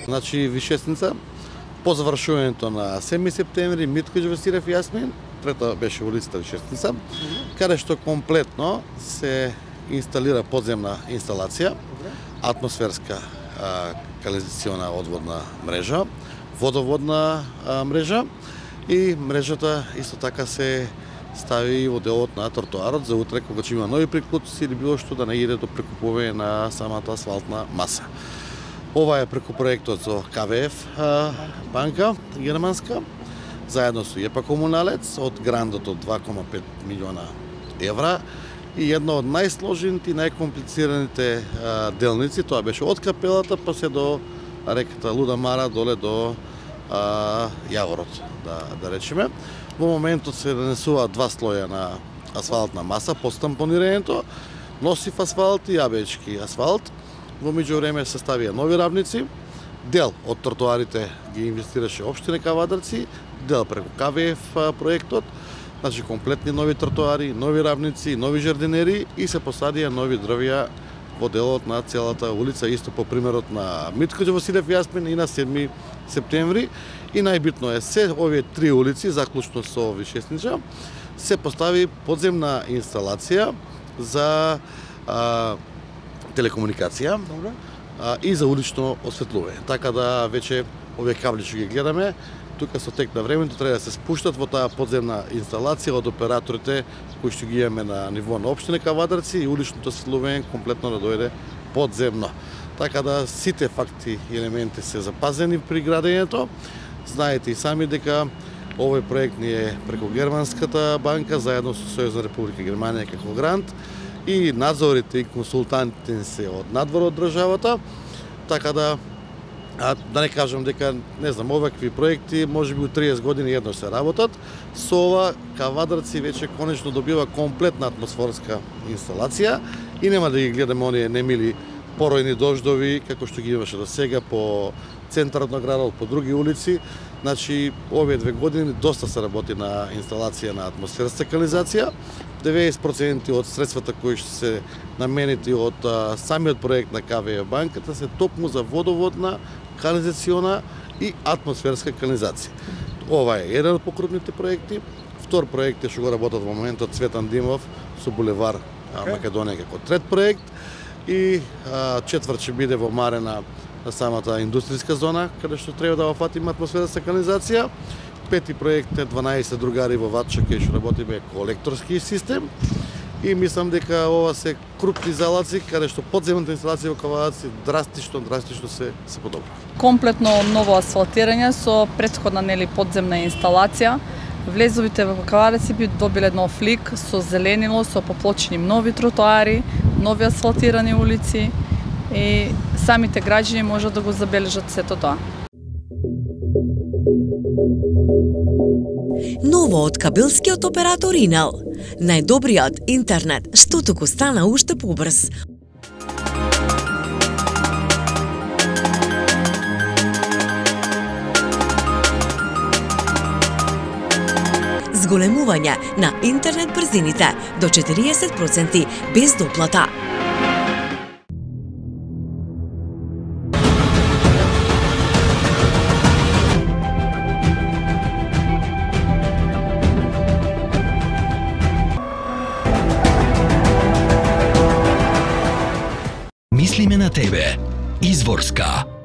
Значи Вишесница, по завршувањето на 7 септември, Митко Џевдосирев и Јасмин, трета беше улицата Вишесница, каде што комплетно се инсталира подземна инсталација, атмосферска канализациона одводна мрежа, водоводна мрежа и мрежата исто така се стави во делот на тротоарот за утре кога ќе има нови приклучици или било што да не иде до прекупување на самата асфалтна маса. Ова е преку проектот со КВФ банка германска, заедно со ЕПА Комуналец, од грандот од 2,5 милиона евра и едно од најсложените и најкомплицираните делници, тоа беше од капелата па се до реката Луда Мара доле до Јаворот, да речеме. Во моментот се нанесуваат 2 слоја на асфалтна маса по стампонирањето, носив асфалт и јабечки асфалт. Во меѓувреме се ставија нови равници, дел од тротоарите ги инвестираше општина Кавадарци, дел преку КВФ проектот, значи комплетни нови тротоари, нови равници, нови жардинери и се посадија нови дрвја во делот на целата улица, исто по примерот на Митко Џевдосирев и Јасмин и на 7 септември. И најбитно е се овие 3 улици, заклучно со Вишесница, се постави подземна инсталација за телекомуникација и за улично осветлување. Така да веќе овие кабли што ги гледаме, тука со тек на времето треба да се спуштат во таа подземна инсталација од операторите кои што ги имаме на ниво на општина Кавадарци и уличното осветлување комплетно да дојде подземно. Така да сите факти и елементи се запазени при градењето. Знаете и сами дека овој проект ни е преку германската банка заедно со Сојузна Република Германија како грант и надзорите и консултантите се од надвор од државата. Така да не кажам дека, не знам, овакви проекти можеби у 30 години едно се работат. Со ова Кавадарци веќе конечно добива комплетна атмосферска инсталација и нема да ги гледаме оние немили поројни дождови како што ги имаше до сега по центарот на градот, по други улици. Значи, овие 2 години доста се работи на инсталација на атмосферска канализација. 90% од средствата кои што се наменети од самиот проект на КВФ банката се токму за водоводна, канализациона и атмосферска канализација. Ова е еден од покрупните проекти. Втор проект е што го работат во моментот Цветан Димов со булевар Македонија како трет проект и четврт ќе биде во Марена на самата индустријска зона, каде што треба да офатиме атмосферска канализација. Пети проект е 12 другари во Ватча, кај што работиме колекторски систем. И мислам дека ова се крупни залаци, каде што подземната инсталација во Кавадарци драстично се подобри. Комплетно ново асфалтирање со претходна подземна инсталација. Влезовите во Кавадарци би добиле нов лик со зеленило, со поплочени нови тротоари, нови асфалтирани улици и самите граѓани можат да го забележат сето тоа. Ново од кабелскиот оператор Инел. Најдобриот интернет што туку стана уште побрз. Зголемување на интернет брзините до 40% без доплата. Мислиме на тебе. Изворска.